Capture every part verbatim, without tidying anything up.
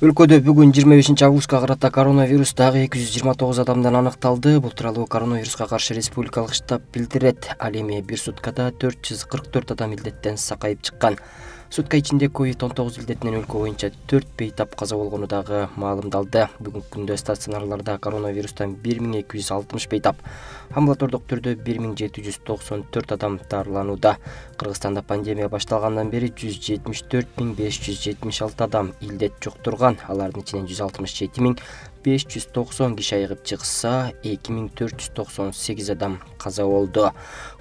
Өлкөдө бүгүн жыйырма бешинчи августка карата коронавирус дагы эки жүз жыйырма тогуз адамдан аныкталды. Бул тууралуу коронавируска каршы республикалык штаб билдирет. Ал эми бир суткада төрт жүз кырк төрт адам илдеттен сакайып чыккан. Сутка ичинде ковид он тогуз илдетинен өлкө боюнча төрт бейтап каза болгону дагы маалымдалды. Бүгүнкү күндө стационарларда коронавирустан бир миң эки жүз алтымыш бейтап, амбулатордук түрдө бир миң жети жүз токсон төрт адам дарыланууда. Кыргызстанда пандемия башталгандан бери жүз жетимиш төрт миң беш жүз жетимиш алты адам илдет жуктурган. Алардын ичинен жүз алтымыш жети миң беш жүз токсон киши айыгып чыкса, эки миң төрт жүз токсон сегиз адам каза болду.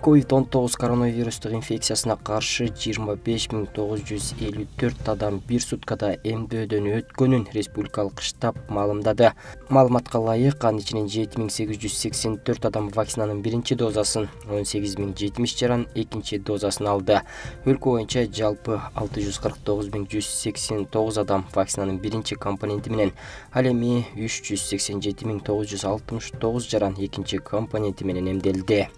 ковид он тогуз коронавирустук инфекциясына каршы жыйырма беш миң тогуз жүз элүү төрт адам бир суткада эмдөөдөн өткөнүн республикалык штаб маалымдады. Маалыматка ылайык, анын ичинен жети миң сегиз жүз сексен төрт адам вакцинанын биринчи дозасын, он сегиз миң жетимиш жаран экинчи дозасын алды. Өлкө боюнча жалпы алты жүз кырк тогуз миң жүз сексен тогуз адам вакцинанын биринчи компоненти менен, ал эми үч жүз сексен жети миң тогуз жүз алтымыш тогуз жаран экинчи компоненти менен эмделди.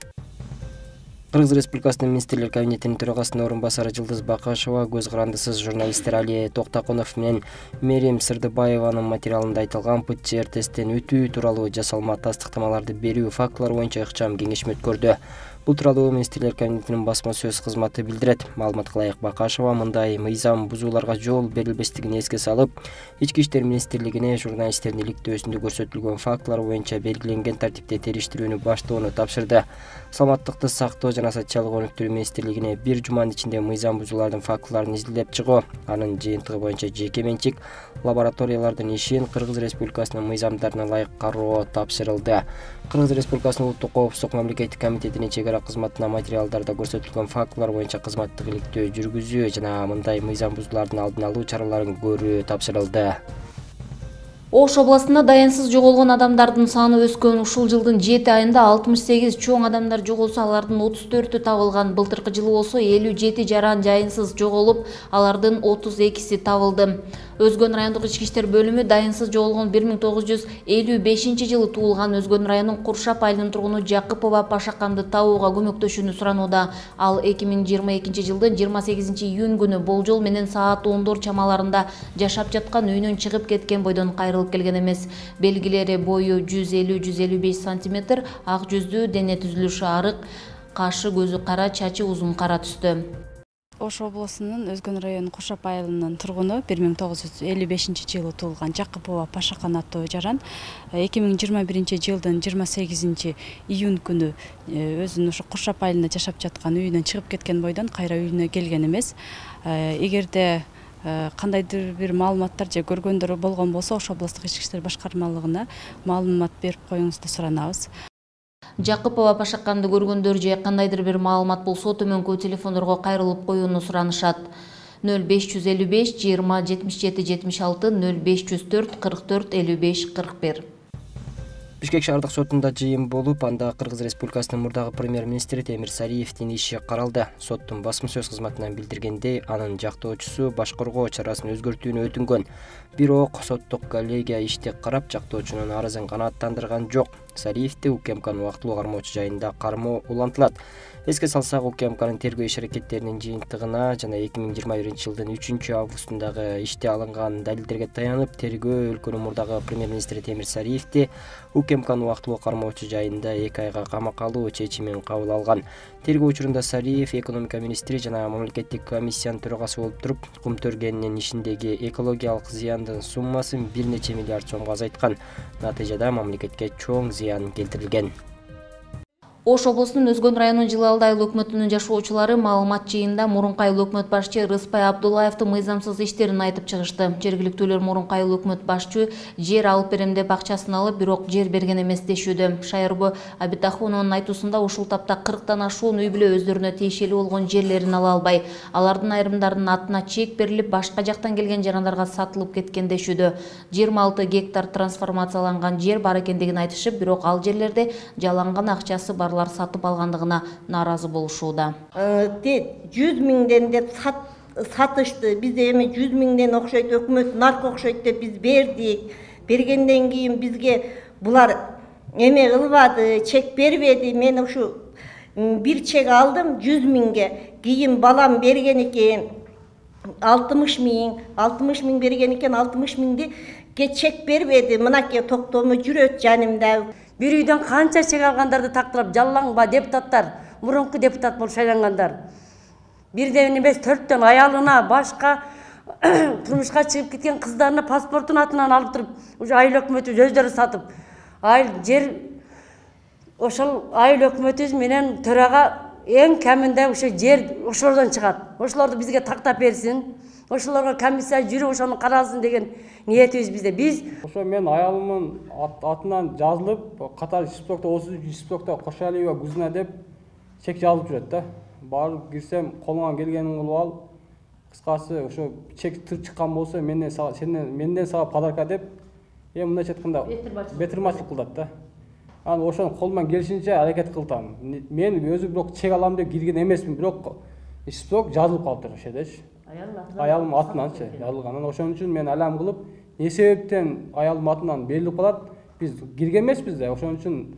Кыргыз Республикасынын министрлер кабинетинин төрагасынын орун басары Жылдыз Бакашева көз карандысыз журналисттер Али Токтакунов менен Мерим Сырдыбаеванын материалында айтылган ПЦР тесттен өтүү тууралуу жасалма тастыктамаларды берүү фактылары боюнча ыкчам кеңешме өткөрдү. Бул тууралуу министрлер кабинетинин басма сөз кызматы билдирет. Маалыматка ылайык, Бакашева мындай мыйзам бузууларга жол берилбестигин эске салып, Ички иштер министрлигине журналисттердин иликтөөсүндө көрсөтүлгөн фактылар боюнча белгиленген тартипте териштирүүнү баштоону тапшырды. Саламаттыкты сактоо жана социалдык өнүктүрүү министрлигине бир жуманын ичинде мыйзам бузуулардын фактыларын изилдеп чыгуу, анын жыйынтыгы боюнча жеке менчик лабораториялардын ишин Кыргыз Республикасынын мыйзамдарына ылайык кароо тапшырылды. Кыргыз Республикасынын улуттук коопсуздук мамлекеттик комитетинин чегара кызматына материалдарда көрсөтүлгөн фактылар боюнча кызматтык иликтөө жүргүзүү жана мындай мыйзам бузуулардын алдын алуу чараларын көрүү тапшырылды. Ош областында даянсыз жоголгон адамдардын саны өскөн. Ушул жылдын жети айында алтымыш сегиз чоң адамдар жоголсо, алардын отуз төртү табылган. Былтыркы жылы болсо элүү жети жаран жайынсыз жоголуп, алардын отуз экиси табылды. Өзгөн райондук ички иштер бөлүмү даянсыз жоголгон бир миң тогуз жүз элүү бешинчи жылы туулган Өзгөн районунун Куршап айылынын тургуну Жакыпова Пашаканды табууга көмөктөшүүнү суранууда. Ал эки миң жыйырма экинчи жылдын жыйырма сегизинчи июнь күнү болжол менен саат ондор чамаларында жашап жаткан үйүнөн чыгып кеткен бойдон кайрылып келген эмес. Белгилери бою жүз элүү жүз элүү беш сантиметр, ак жүздүү, дене түзүлүшү арык, кашы көзү кара, чачы узун кара түстө. Ош облусунун Өзгөн районунун Куршап айылынын тургуну бир миң тогуз жүз элүү бешинчи жылы туулган Жакыпова Пашакан аттуу жаран эки миң жыйырма биринчи жылдын жыйырма сегизинчи июнь күнү өзүнүн ушу Куршап айылында жашап жаткан үйүнөн чыгып кеткен бойдон кайра үйүнө келген эмес. Эгерде кандайдыр бир маалыматтар же көргөндөр болгон болсо, Ош облустук ички иштер башкармалыгына маалымат берип коюңузду суранабыз. Жакыпова Пашаканды көргөндөр же кандайдыр бир маалымат болсо, төмөнкү телефондорго кайрылып коюуну суранышат. нөл беш жүз элүү беш жыйырма жетимиш жети жетимиш алты, нөл беш жүз төрт кырк төрт элүү беш кырк бир. Бишкек шаардык сотунда жыйын болуп, анда Кыргыз Республикасынын мурдагы премьер-министри Темир Сариевдин иши каралды. Соттун басма сөз кызматынан билдиргендей, анын жактоочусу баш коргоо чарасын өзгөртүүнү өтүнгөн. Бирок соттук коллегия ишти карап, жактоочунун арызын канааттандырган жок. Сариевди УКМКнын убактылуу кармоочу жайында кармоо улантылат. Эске салсак, УКМКнын тергөө иш-аракеттеринин жыйынтыгына жана эки миң жыйырма биринчи жылдын үчүнчү августундагы иште алынган далилдерге таянып, тергөө өлкөнүн мурдагы премьер-министри Темир Сариевди УКМКнын убактылуу кармоочу жайында эки айга камакка алуу чечимин кабыл алган. Тергөө учурунда Сариев экономика министри жана мамлекеттик комиссиянын төрагасы болуп туруп, кум төргенинин ишиндеги экологиялык зыяндын суммасын бир нече миллиард сомго азайткан. Натыйжада мамлекетке чоң зыян келтирилген. Ош облусунун Өзгөн районунун Жылы Алды айыл өкмөтүнүн жашоочулары маалымат жыйынында мурунку айыл өкмөт башчы Рыспай Абдуллаевдин мыйзамсыз иштерин айтып чыгышты. Жергиликтүүлөр мурунку айыл өкмөт башчы жер алып берем деп акчасын алып, бирок жер берген эмес дешүүдө. Шайырбы Абитахуновдун айтуусунда ушул тапта кырктан ашуун үй бүлө өздөрүнө тиешелүү болгон жерлерин ала албай, алардын айрымдарынын атына чек берилип, башка жактан келген жарандарга сатылып кеткен дешүүдө. жыйырма алты гектар трансформацияланган жер бар экендигин айтышып, бирок ал жерлерде жаланган акчасы бар сатып алгандыгына нааразы болушууда. жүз миңден деп сатышты. Биз эми жүз миңден окшойт, өкмөт наркы окшойт деп биз бердик. Бергенден кийин бизге булар эме кылбады, чек бербеди. Мен ушу бир чек алдым жүз миңге. Кийин балам берген экен. алтымыш миң алтымыш миң берген экен, алтымыш миңди чек бербеди. Мынакей токтому жүрөт жанымда. Бир үйдөн канча чек алгандарды тактырып жаллаңба депутаттар, мурунку депутат болуп шайлангандар. Бирден эмес төрттөн аялына, башка турмушка чыгып кеткен кыздарына паспортун атынан алып туруп, уже айыл өкмөтү өздөрү сатып, айыл жер ошол айыл өкмөтүбүз менен төрага эң кеминде ошо жер ошолордон чыгат. Ошолорду бизге тактап берсин. Ошолорго комиссия жүрүп ошону каралсын деген ниетибиз бизде. Биз ошо мен аялымдын атынан жазылып, катар Шиспокто отуз үч Шиспокто Кошалиева Гузна деп чек жазылып жүрөт да. Барып кирсем, колуңан келгенин кылып ал. Кыскасы ошо чек тыр чыккан болсо менден сага сенден менден сага подарка деп, эми мындайча айтканда бетирмачылык кылат да. Анан ошону колуман келишинче аракет кылтам. Мен өзүм бирок чек алам деп кирген эмесмин, бирок Шиспок жазылып калыптыр ошо жердечи. Аялым атынанчы жазылган. Анан ошон үчүн мен алам кылып, эмне себептен аялым атынан берилип калат? Биз кирген эмеспиз да, ошон үчүн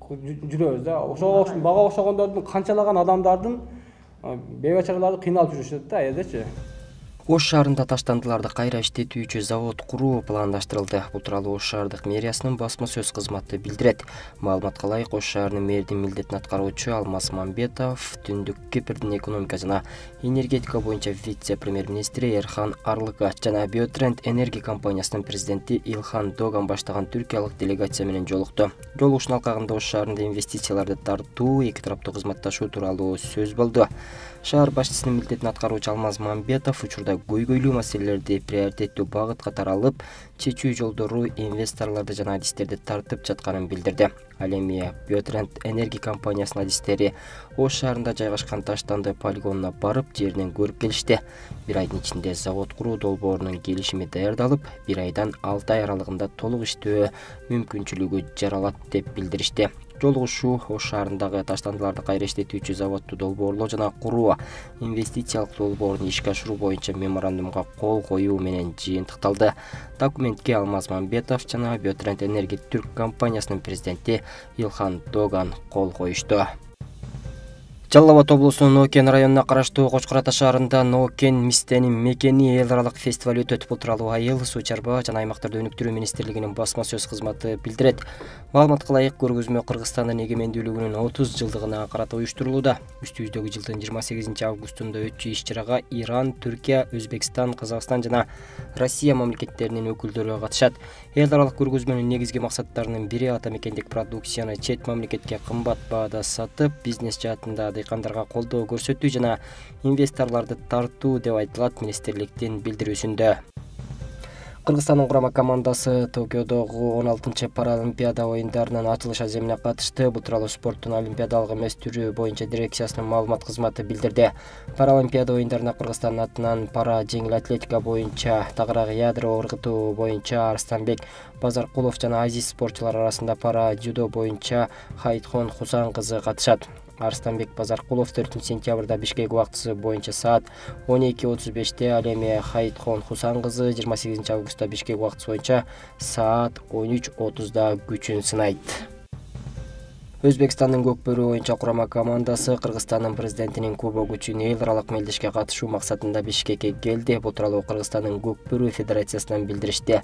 жүрөбүз да. Ошого бага окшогондордун канчалаган адамдардын бейбачараларды кыйналып жүрүшөт да элдечи. Ош шаарында таштандыларды кайра иштетүүчү завод куруу пландаштырылды. Бул тууралуу Ош шаардык мэриясынын басма сөз кызматы билдирет. Маалыматка ылайык, Ош шаарынын мэрдин милдетин аткаруучу Алмаз Мамбетов Түндүк Кипрдин экономика жана энергетика боюнча вице-премьер-министри Эрхан Арлыга жана Биотренд энергия компаниясынын президенти Илхан Доган баштаган түркиялык делегация менен жолукту. Жолугушуун алкагында Ош шаарында инвестицияларды тартуу, эки тараптуу кызматташуу тууралуу сөз болду. Шаар башчысынын милдетин аткаруучу Алмаз Мамбетов учурда көйгөйлүү маселелерди приоритеттүү багыт катары алып, чечүү жолдору инвесторлорду жана адистерди тартып жатканын билдирди. Ал эми Биотренд энергия компаниясынын адистери Ош шаарында жайгашкан таштанды полигонуна барып, жеринен көрүп келишти. Бир айдын ичинде завод куруу долбоорунун келишими даярдалып, бир айдан алты ай аралыгында толук иштөө мүмкүнчүлүгү жаралат деп билдиришти. Жолугушуу Ош шаарындагы таштандыларды кайра иштетүүчү заводду долбоорлоо жана куруу, инвестициялык долбоорун ишке ашыруу боюнча меморандумга кол коюу менен жыйынтыкталды. Документке Алмаз Мамбетов жана Биотренд энергия түрк компаниясынын президенти Илхан Доган кол коюшту. Жалал Абад облусунун Нокен районуна караштуу Кочкор Ата шаарында Нокен мистенин мекени эл аралык фестиваль өтөт. Бул тууралуу Айыл, суу чарба жана аймактарды өнүктүрүү министрлигинин басма сөз кызматы билдирет. Маалыматка ылайык, көргөзмө Кыргызстандын эгемендүүлүгүнүн отуз жылдыгына карата уюштурулууда. Үстүбүздөгү жылдын жыйырма сегизинчи августунда өтчү иш-чарага Иран, Түркия, Өзбекстан, Казакстан жана Россия мамлекеттеринин өкүлдөрү катышат. Эл аралык көргөзмөнүн негизги максаттарынын бири ата мекендик продукцияны чет мамлекетке кымбат баада сатып, бизнес жаатында дыйкандарга колдоо көрсөтүү жана инвесторлорду тартуу деп айтылат министрликтин билдирүүсүндө. Кыргызстандын курама командасы Токиодогу он алтынчы Паралимпиада оюндарынын ачылыш аземине катышты. Бул тууралуу спорттун олимпиадалык эмес түрү боюнча дирекциясынын маалымат кызматы билдирди. Паралимпиада оюндарына Кыргызстан атынан пара жеңил атлетика боюнча, тагыраагы ядро ыргытуу боюнча Арстанбек Базаркулов жана азиз спортчулар арасында пара дзюдо боюнча Хайтхон Хусан кызы катышат. Арстанбек Базаркулов төртүнчү сентябрда Бишкек убактысы боюнча саат он эки отуз беште, ал эми Хайтхон Хусан кызы жыйырма сегизинчи августта Бишкек убактысы боюнча саат он үч отузда күчүн сынайт. Өзбекстандын көкбөрү боюнча курама командасы Кыргызстандын президентинин кубогу үчүн эл аралык мелдешке катышуу максатында Бишкекке келди. Бул тууралуу Кыргызстандын көкбөрү федерациясынан билдиришти.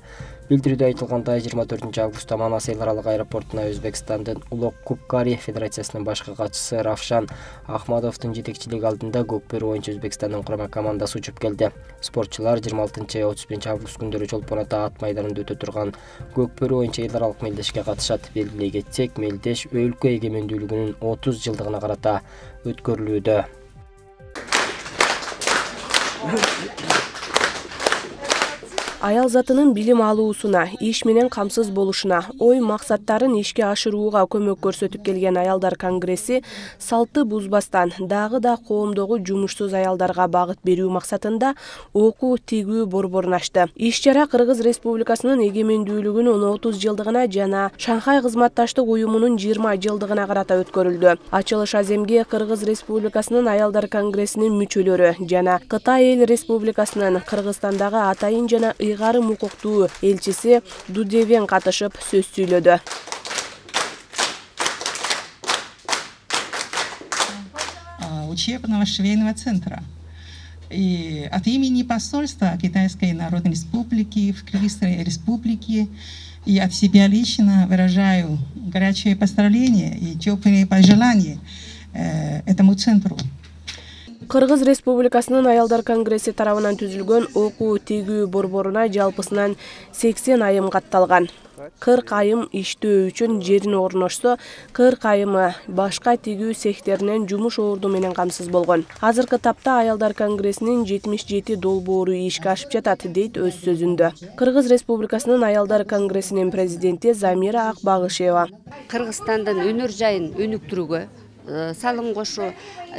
Билдирүүдө айтылгандай, жыйырма төртүнчү августта Манас эл аралык аэропортуна Өзбекстандын Улук Купкари федерациясынын башкы катчысы Равшан Ахмадовдун жетекчилиги алдында көкбөрү боюнча Өзбекстандын курама командасы учуп келди. Спортчулар жыйырма алтынчы отуз биринчи август күндөрү Чолпон Ата ат майданында өтө турган көкбөрү боюнча эл аралык мелдешке катышат. Белгилей кетсек, мелдеш өлкө эгемендүүлүгүнүн отуз жылдыгына карата өткөрүлүүдө. Аял затынын билим алуусуна, иш менен камсыз болушуна, ой максаттарын ишке ашырууга көмөк көрсөтүп келген аялдар конгресси салтты бузбастан дагы да коомдогу жумушсуз аялдарга багыт берүү максатында окуу тигүү борборун ачты. Иш-чара Кыргыз Республикасынын эгемендүүлүгүнүн отуз жылдыгына жана Шанхай кызматташтык уюмунун жыйырма жылдыгына карата өткөрүлдү. Ачылыш аземге Кыргыз Республикасынын аялдар конгрессинин мүчөлөрү жана Кытай эл республикасынын Кыргызстандагы атайын жана ыйгарым укуктуу элчиси Дудевен катышып сөз сүйлөдү. Учебного швейного центра. И от имени посольства Китайской Народной Республики в Кыргызской Республике и от себя лично выражаю горячее поздравление и теплые пожелания э, этому центру. Кыргыз Республикасынын аялдар конгресси тарабынан түзүлгөн окуу тегүү борборуна жалпысынан сексен айым катталган. кырк айым иштөө үчүн жерин орношсо, кырк айымы башка тегүү цехтеринен жумуш орду менен камсыз болгон. Азыркы тапта аялдар конгрессинин жетимиш жети долбоору ишке ашып жатат, дейт өз сөзүндө. Кыргыз Республикасынын аялдар конгрессинин президенти Замира Акбагышева. Кыргызстандын өнөр жайын өнүктүрүүгө салым кошуу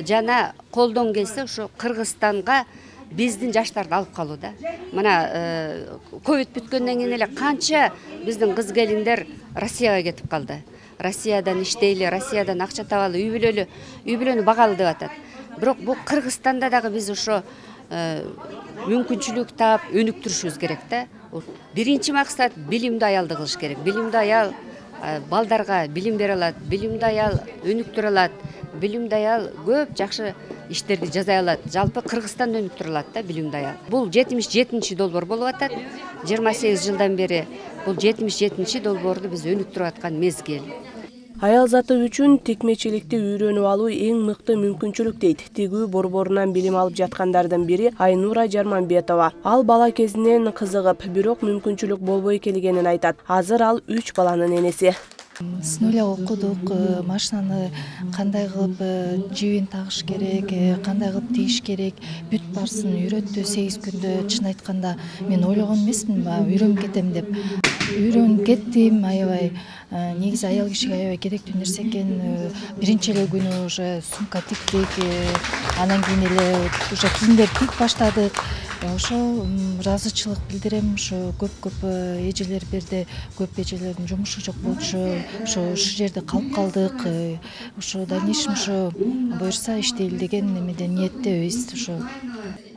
жана колдон келсе ошо Кыргызстанга биздин жаштарды алып калууда. Мына ковид бүткөндөн кийин эле канча биздин кыз келиндер Россияга кетип калды. Россиядан иштейли, Россиядан акча табалы, үй бүлөлү, үй бүлөнү багалы деп атат. Бирок бул Кыргызстанда дагы биз ошо мүмкүнчүлүк таап өнүктүрүшүбүз керек да. Биринчи максат билимдүү аялды кылыш керек. Билимдүү аял балдарга билим бере алат, билимдүү аял өнүктүрө алат, билимдүү аял көп жакшы иштерди жасай алат. Жалпы Кыргызстанды өнүктүрө алат да билимдүү аял. Бул жетимиш жетинчи долбоор болуп атат. жыйырма сегиз жылдан бери бул жетимиш жетинчи долбоорду биз өнүктүрүп аткан мезгил. Аял заты үчүн текмечиликти үйрөнүп алуу эң мыкты мүмкүнчүлүк, дейт тегүү борборунан билим алып жаткандардын бири Айнура Жарманбетова. Ал бала кезинен кызыгып, бирок мүмкүнчүлүк болбой келгенин айтат. Азыр ал үч баланын энеси. С нуля окудук, машинаны кандай кылып жибин тагыш керек, кандай кылып тийиш керек, бүт баарысын үйрөттү. сегиз күндө чын айтканда мен ойлогон эмесмин, үйрөнүп кетем деп. Үйрөнүп кеттим, аябай. Негизи аял кишиге аябай керектүү нерсе экен. Биринчи эле күнү уже сумка тиктик, анан кийин эле уже кийимдер тик баштадык. Ошо ыраазычылык билдирем, ошо көп-көп эжелер берди, көп эжелердин жумушу жок болчу, ошо ушул жерде калып калдык. Ошо дальнейшем ошо буюрса иштейли деген немеден ниеттебиз ошо.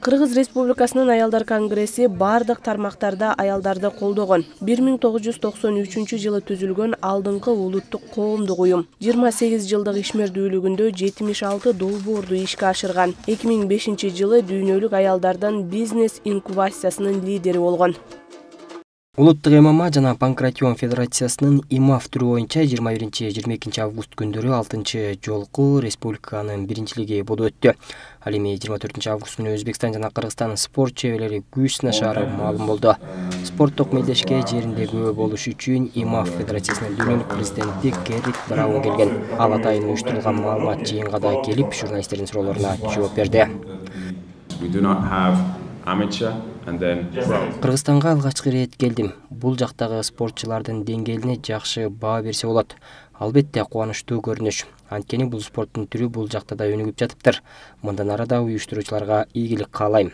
Кыргыз Республикасынын аялдар конгресси бардык тармактарда аялдарды колдогон. бир миң тогуз жүз токсон үчүнчү жылы түзүлгөн алдыңкы улуттук коомдук уюм. жыйырма сегиз жылдык ишмердүүлүгүндө жетимиш алты долбоорду ишке ашырган. эки миң бешинчи жылы дүйнөлүк аялдардын бизнес инкубациясынын лидери болгон. Улуттук эм эм а жана Панкратион Федерациясынын и эм а эф түрү боюнча жыйырма биринчи жыйырма экинчи август күндөрү алтынчы жолку республиканын биринчилиги болуп өттү. Ал эми жыйырма төртүнчү август күнү Өзбекстан жана Кыргызстан спорт чеберлери күч сынашаары маалым болду. Спорттук мелдешке жеринде күбө болуш үчүн и эм а эф Федерациясынын дүйнөлүк президенти Геррит Браун келген. Ал атайын уюштурулган маалымат жыйынга да келип, журналисттердин суроолоруна жооп берди. Кыргызстанга алгачкы ирет келдим. Бул жактагы спортчулардын деңгээлине жакшы баа берсе болот. Албетте кубанычтуу көрүнүш. Анткени бул спорттун түрү бул жакта да өнүгүп жатыптыр. Мындан ары да уюштуруучуларга ийгилик каалайм.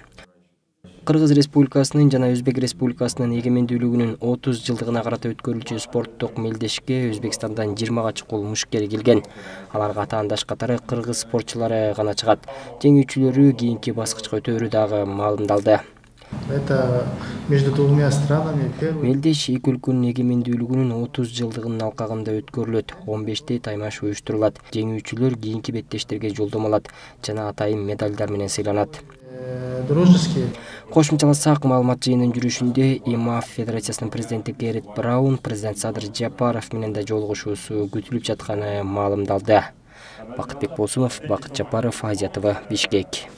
Кыргыз Республикасынын жана Өзбек Республикасынын эгемендүүлүгүнүн отуз жылдыгына карата өткөрүлчү спорттук мелдешке Өзбекстандан жыйырмага чукул мушкер келген. Аларга атаандаш катары кыргыз спортчулары гана чыгат. Жеңүүчүлөрү кийинки баскычка өтөөрү дагы маалымдалды. Это между двумя странами. Мелдеш эки өлкөнүн эгемендүүлүгүнүн отуз жылдыгынын алкагында өткөрүлөт. он беште таймаш уюштурулат. Жеңүүчүлөр кийинки беттештерге жолдомо алат жана атайын медальдар менен сыйланат. Дружеские. Кошумчаласак, маалымат жыйынынын жүрүшүндө и эм а эф Федерациясынын президенти Геррит Браун, президент Садыр Жапаров менен да жолугушуусу күтүлүп жатканы маалымдалды. Бакытбек Болсунов, Бакыт Жапаров, Азия ТВ, Бишкек.